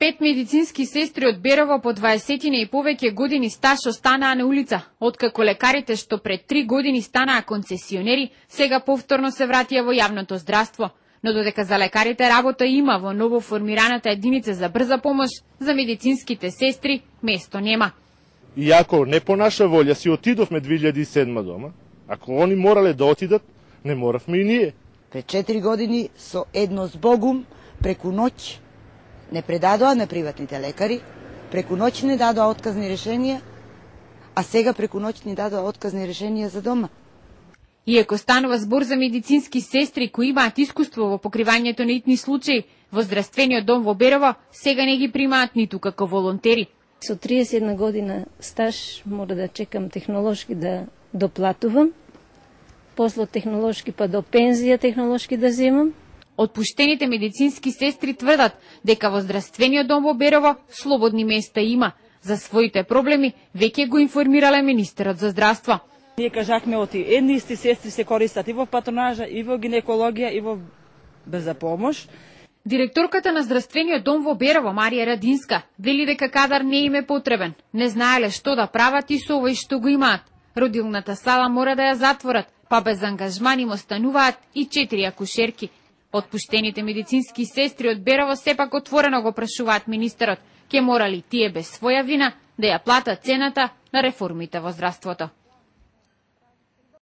5 медицински сестри од Берово по 20 и повеќе години стаж останаа на улица, откако лекарите што пред 3 години станаа концесионери, сега повторно се вратија во јавното здравство. Но додека за лекарите работа има во ново формираната единица за брза помош, за медицинските сестри место нема. Иако не по наша волја си отидовме 2007 дома, ако они морале да отидат, не моравме и ние. Пред 4 години со едно збогум преку ноќ не предадоа на приватните лекари, преку ноќ не дадоа отказни решенија, а сега преку ноќ ни дадоа отказни решенија за дома. Иако станува збор за медицински сестри кои имаат искуство во покривањето на итни случаи, во здравствениот дом во Берово сега не ги примаат ниту како волонтери. Со 31 година стаж мора да чекам технолошки да доплатувам, после технолошки па до пензија технолошки да земам. Отпуштените медицински сестри тврдат дека во здравствениот дом во Берово слободни места има. За своите проблеми веќе го информирале министерот за здравство. Ние кажахме оти едни исти сестри се користат и во патронажа, и во гинекологија, и во брза помош. Директорката на здравствениот дом во Берово, Марија Радинска, вели дека кадар не им е потребен. Не знаеле што да прават и со овој што го имаат. Родилната сала мора да ја затворат, па без ангажман им остануваат и 4 акушерки. Отпуштените медицински сестри од Берово сепак отворено го прашуваат министерот, ке морали тие без своја вина да ја платат цената на реформите во здравството.